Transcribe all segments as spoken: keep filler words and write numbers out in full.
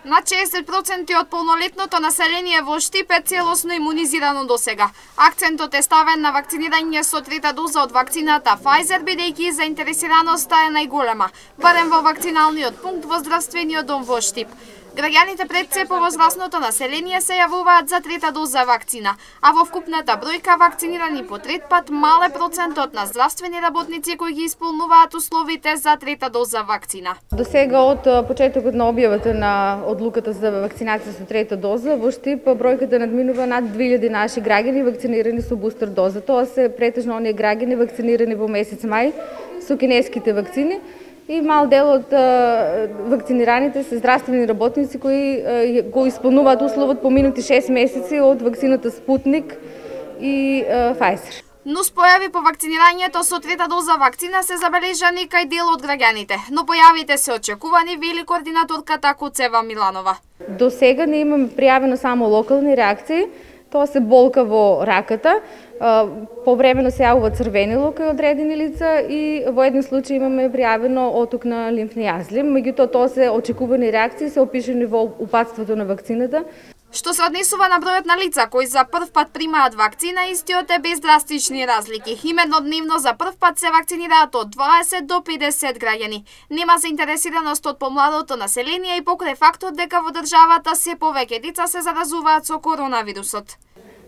Над шеесет проценти од полнолетното население во Штип е целосно имунизирано досега. Акцентот е ставен на вакцинирање со трета доза од вакцината Pfizer, бидејќи заинтересираноста е најголема, барем во вакциналниот пункт во здравствениот дом во Штип. Граѓаните пред се повозрасното население се јавуваат за трета доза вакцина, а во вкупната бројка вакцинирани по трет пат мал е процентот на здравствени работници кои ги исполнуваат условите за трета доза вакцина. До сега од почетокот на објавата на одлуката за вакцинација со трета доза во Штип бројката надминува над две илјади наши граѓани вакцинирани со бустер доза. Тоа се претежно оние граѓани вакцинирани во месец мај со кинеските вакцини. И мал дел од вакцинираните се здравствени работници кои го исполнуваат условот поминати шест месеци од вакцината Спутник и Pfizer. Нуспојави по вакцинирањето со трета доза вакцина се забележани кај дел од граѓаните, но појавите се очекувани, вели координаторката Куцева Миланова. До сега не имаме пријавено само локални реакции. Тоа се болка во раката, повремено се јавува црвенило кај одредени лица и во еден случај имаме пријавено оток на лимфни јазли. Меѓутоа тоа се очекувани реакции, се опишани во упатството на вакцината. Што се однесува на бројот на лица кои за прв пат примаат вакцина, истиот е без драстични разлики. Именно дневно за прв пат се вакцинираат од дваесет до педесет граѓани. Нема заинтересираност од помладото население и покрај фактот дека во државата се повеќе деца се заразуваат со коронавирусот.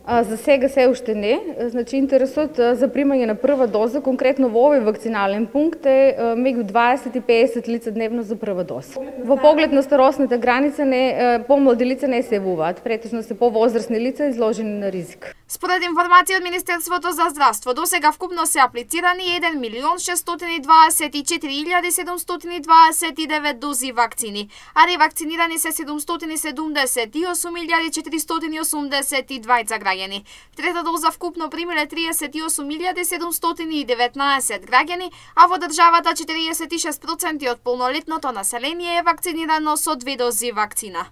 За сега се уште не. Значи интересот за примање на прва доза, конкретно во овој вакцинален пункт е меѓу дваесет и педесет лица дневно за прва доза. Во поглед на старосната граница не помлади лица не се јавуваат, претежно се повозрасни лица изложени на ризик. Според информација од Министерството за здравство, досега вкупно се аплицирани еден милион шестстотини дваесет и четири илјади седумстотини дваесет и девет дози вакцини, а ревакцинирани се седумстотини седумдесет и осум илјади четиристотини осумдесет и двајца граѓани. Трета доза вкупно примиле триесет и осум илјади седумстотини и деветнаесет граѓани, а во државата четириесет и шест проценти од полнолетното население е вакцинирано со две дози вакцина.